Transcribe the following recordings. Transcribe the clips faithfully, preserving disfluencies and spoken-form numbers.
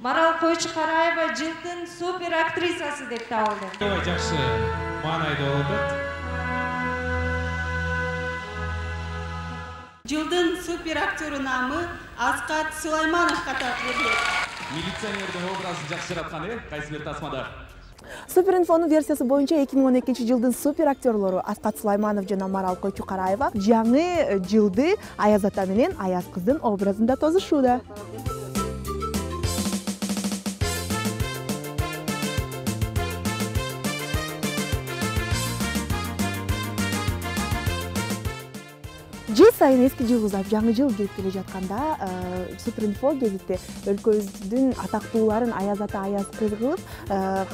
Марал Койчукараева жылдын супер актрисасы деп табылды. Ой, жакшы маанайда болуп атат. Жылдын супер актеру намы Аскат Сулаймановго берилет. Милиционердин образын жакшы жараткан э, кайсы бир тасмада. Супер инфонун версиясы боюнча эки миң он экинчи жылдын супер актерлору Аскат Сулайманов жана Марал Койчукараева жаңы жылды Аяз ата менен Аяз кыздын образында тосушууда. Жыл сайын эски жыл узап жаңы жыл келип келе жатканда Супер инфо гезити өлкөбүздүн атактууларын Аяз ата Аяз кыз кылып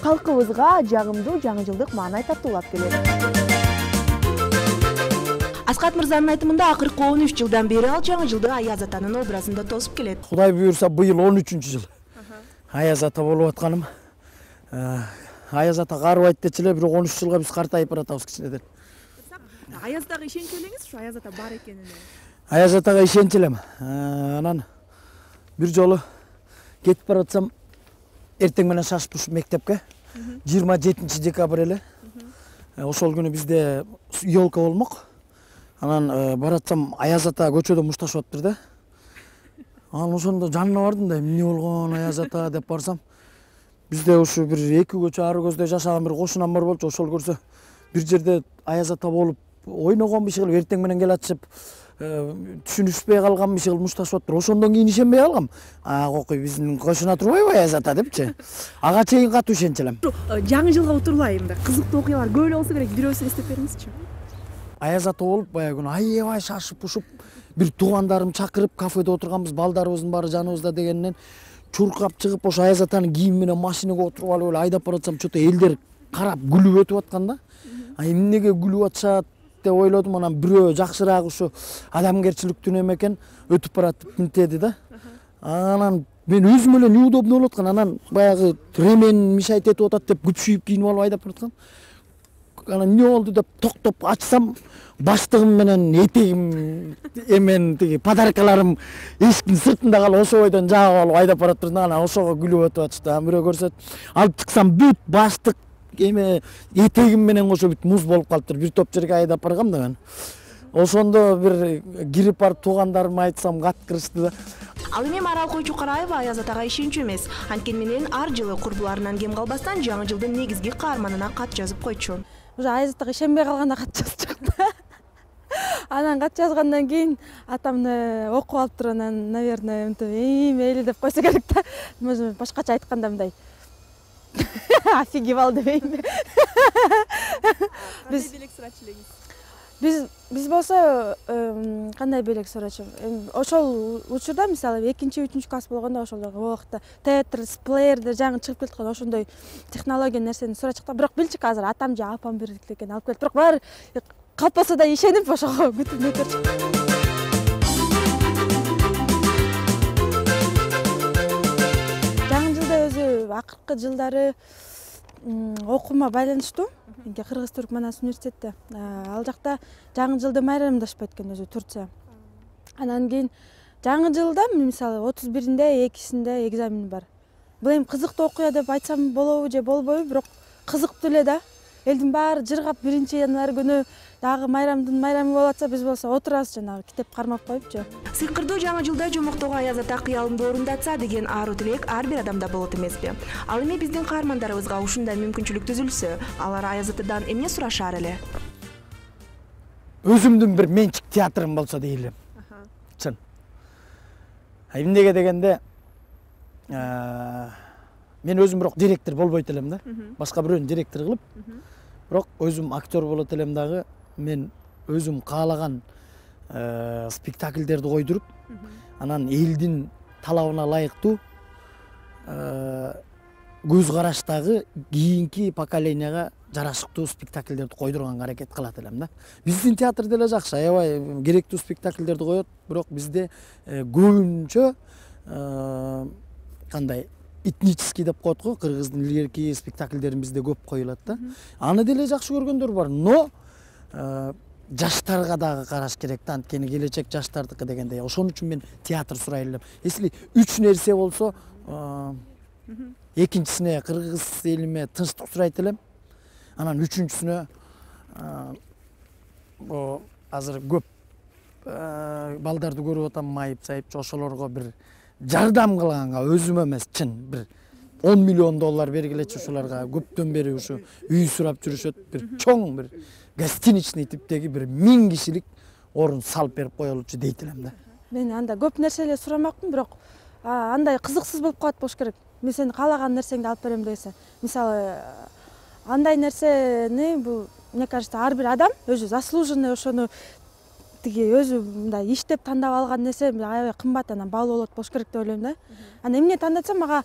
калкыбызга жагымдуу жаңы жылдык маанай тартуулап келет. Аскат мырзанын айтымында акыркы он үч жылдан бери ал жаңы жылды Аяз атанын образында тосуп келет. Кудай буюрса быйыл он үчүнчү жыл. Аяз ата болуп атканым. Аяз ата карыбайт дечи эле, бирок он үч жылга биз картайып баратабыз кичинеден. Аяз атага ишенчү элеңиз, ушу Аяз ата бар экенине? Аяз атага ишенчү элем. Анан бир жолу кетип баратсам, эртең менен шашып ушуп мектепке. жыйырма жетинчи декабрь эле. Ошол күнү бизде ёлка болмок. Анан баратсам, Аяз ата көчөдө мушташып атыптыр да. Анан ошондо жанына бардым да, эмне болгон Аяз ата деп барсам, бизде ушу бир эки көчө ары көздө жашаган бир кошунам бар болчу. Ошол көрсө бир жерде Аяз ата болуп ойногон биши кылып эртең менен келатышып түшүнүшпөй калган биши кылып мушташып атыптыр. Ошондон кийин ишенбей калгам. А кокуй биздин кошуна турбайбы Аяз ата депчи. Ага чейин катуу ишенчү элем. Жаңы жылга отурлай мындай кызыктуу окуялар көп эле болсо керек, бирөөсүн эстеп бериңизчи. Аяз ата болуп баягы күнү аябай шашып ушуп бир туугандарым чакырып кафеде отурганбыз, балдарыбыздын баары жаныбызда дегенден чуркап чыгып ошо Аяз атанын кийими менен машинага отуруп алып эле айдап баратсам, чото элдер карап күлүп өтүп аткан да. А эмнеге күлүп атышат деп ойлодум. Анан бирөө жакшыраак ушу адамгерчиликтүү неме экен өтүп баратып мынтеди да. Анан мен өзүм эле неудобно болуп аткан. Анан баягы ремен мешайт этип атат деп күпшүйүп кийинип алып айдап бараткан. Анан эмне болду деп токтоп ачсам, баштыгым менен этегим эмен тиги подаркаларым эшиктин сыртында калып, ошо бойдон жаап алып айдап баратыр да. Анан ошого күлүп өтүп атышты. Анан бирөө көрсөт, алып чыксам бүт баштык эме этегим менен кошо бүт муз болуп калыптыр. Бир топ жерге айдап баргам да мен. Ошондо бир кирип барып туугандарыма айтсам каткырышты да. Ал эми Марал Койчукараева Аяз атага ишенчү эмес. Анткени менен ар жылы курбуларынан кем калбастан жаңы жылдын негизги каарманына кат жазып койчу. Уже Аяз атага ишенбей калганда кат жазчу да. Анан кат жазгандан кийин атамны окуп алыптыр. Анан, наверное, мынтип мейли деп койсо керек да. Башкача айтканда мындай офигевал дебейинби? Биз белек сурачу элеңиз? Биз биз болсо кандай белек сурачу? Ошол учурда мисалы экинчи үчүнчү класс болгондо ошол убакта театр, плеердер жаңы чыгып келаткан ошондой технология нерсени сурачык да. Бирок билчүк азыр атам же апам бирдикте экен алып келип. Бирок баары калпаса да ишенип ошого күтүп өтөрчү. Акыркы жылдары окуума байланыштуу. Менде Кыргыз-Түрк Манас университетте. Ал жакта жаңы жылды майрамдашпайт экен өзү Турция. Анан кийин жаңы жылда мисалы отуз биринде, экисинде экзамен бар. Бул эми кызыктуу окуя деп айтсам болобу же болбойбу, бирок кызыктуу эле да. Элдин баары жыргап биринчи январь күнү дагы майрамдын майрамы болуп атса, биз болсо отурабыз жанагы китеп кармап коюпчу. Сыйкырдуу жаңы жылда жомоктогу Аяз ата кыялымды орундатса деген аруу тилек ар бир адамда болот эмеспи? Ал эми биздин каармандарыбызга ушундай мүмкүнчүлүк түзүлсө, алар Аяз атадан эмне сурашар эле? Өзүмдүн бир менчик театрым болсо дейли. Чын. Эмнеге дегенде, мен өзүм бирок директор болбойт элем да. Башка бирөөнү директор кылып, бирок өзүм актер болот элем дагы. Мен өзүм каалаган спектакльдерди койдуруп, анан элдин талабына ылайыктуу көз караштагы кийинки поколенияга жарашыктуу спектакльдерди койдурганга аракет кылат элем да. Биздин театр деле жакшы, аябай керектүү спектакльдерди коет, бирок бизде көбүнчө кандай этнический деп коет го, кыргыздын илгерки спектакльдерин бизде көп коюлат да. Аны деле жакшы көргөндөр бар, но жаштарга дагы караш керек да, анткени келечек жаштардыкы дегендей. Ошон үчүн мен театр сурай элем. Если үч нерсе болсо, экинчисине кыргыз элиме тынчтык сурайт элем. Анан үчүнчүсүнө бу азыр көп балдарды көрүп атам, майып сайыпчы, ошолорго бир жардам кылганга, өзүм эмес, чын бир он миллион доллар бергилечи ошолорго. Көптөн бери ушу үй сурап жүрүшөт. Бир чоң бир гостиничный типтеги бир миң кишилик орун салып берип коелучу дейт элем да. Мен анда көп нерселер сурамакмын, бирок андай кызыксыз болуп калат болуш керек. Мен сени каалаган нерсеңди алып берем десе. Мисалы, андай нерсени бул, мне кажется, ар бир адам өзү заслуженный ошону тиги өзү мындай иштеп тандап алган нерсе аябай кымбат, анан баалуу болот болуш керек деп ойлойм да. Анан эмне тандатсам, мага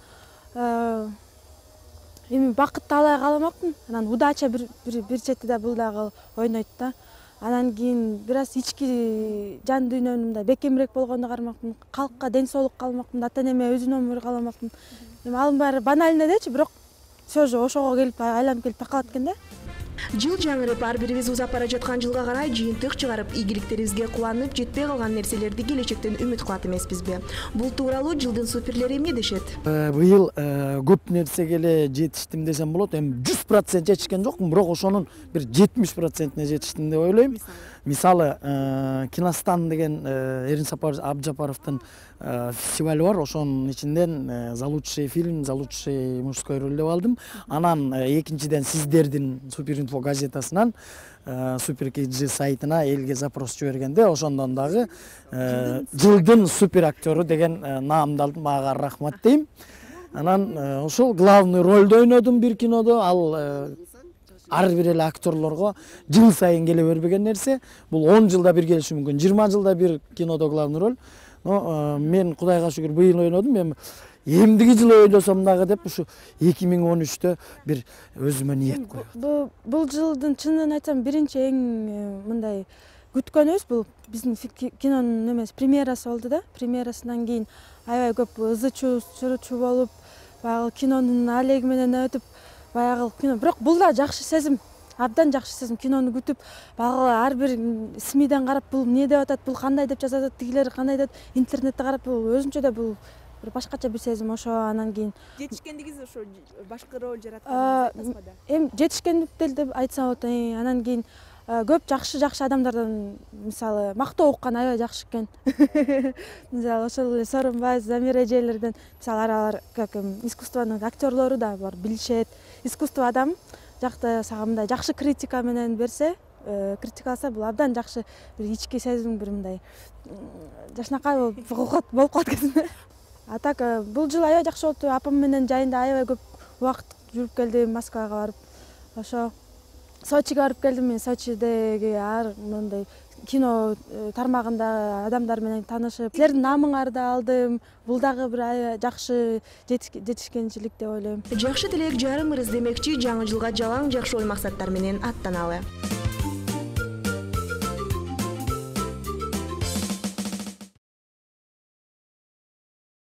эми бакытты алай каламакмын. Анан удача бир бир четиде бул дагы ойнойт да. Анан кийин бир аз ички жан дүйнөм мындай бекемирээк болгонду кармакмын. Калкка ден соолук каламакмын, ата энеме өзүнөн өмүр каламакмын. Эми алын баары банально дечи, бирок все же ошого келип айланып келип такалат экен да. Жыл жаңырып, ар бирибиз узап бара жаткан жылга карай жыйынтык чыгарып, ийгиликтерибизге кубанып, жетпей калган нерселерди келечектен үмүт кылат эмеспизби? Бул тууралуу жылдын суперлери эмне дешет? Быйыл көп нерсеге эле жетиштим десем болот. Эми жүз процент жетишкен жокмун, бирок ошонун бир жетимиш процентине жетиштим деп ойлойм. Мисалы, Киностан деген Эрин Абджапаровдун фестивали бар. Ошонун ичинден за лучший фильм, за лучший мужской роль деп алдым. Анан экинчиден сиздердин Суперинфо газетасынан Супер Киджи сайтына элге запрос жибергенде, ошондон дагы жылдын супер актеру деген наамды алдым. Мага рахмат дейм. Анан ошол главный ролду ойнодум бир кинодо. Ал ар бир эле актерлорго жыл сайын келе бербеген нерсе. Бул он жылда бир келиши мүмкүн, жыйырма жылда бир кинодо главный роль. Но мен Кудайга шүгүр быйыл ойнодум. Эми эмдиги жылы ойлосом дагы деп ушу эки миң он үчтө бир өзүмө ниет коюп. Бул жылдын чынын айтсам биринчи эң мындай күткөнүбүз бул биздин кинонун эмес премьерасы болду да. Премьерасынан кийин аябай көп ызы чуу болуп, баягы кинонун алеги менен өтүп, баягы кино, бирок бул да жакшы сезим. Абдан жакшы сезим, кинону күтүп, баягы ар бир СМИден карап, бул эмне деп атат, бул кандай деп жазат, тигилер кандай деп, интернетте карап, бул өзүнчө да бул бир башкача бир сезим. Ошо анан кийин жетишкендигиз ошо башкы роль жараткан эми жетишкендик деп айтсам болот. Анан кийин көп жакшы-жакшы адамдардан мисалы мактоо уккан аябай жакшы экен. Мисалы ошол эле Сооронбай, Замир эжелерден мисалы алар как искусствонун актерлору да бар, билишет. Искусство адам жакта сага мындай жакшы критика менен берсе, критикаласа, бул абдан жакшы бир ички сезим, бир мындай жашнакай болуп калат экен. А так бул жыл аябай жакшы болду. Апам менен жайында аябай көп убакыт жүрүп келдим, Москвага барып. Ошо Сочиге барып келдим. Мен Сочидеги ар мындай кино тармагында адамдар менен таанышып, силердин наамыңарды алдым. Бул дагы бир аябай жакшы жетишкенчилик деп ойлойм. Жакшы тилек жарымырыз демекчи, жаңы жылга жалаң жакшы ой максаттар менен аттаналы.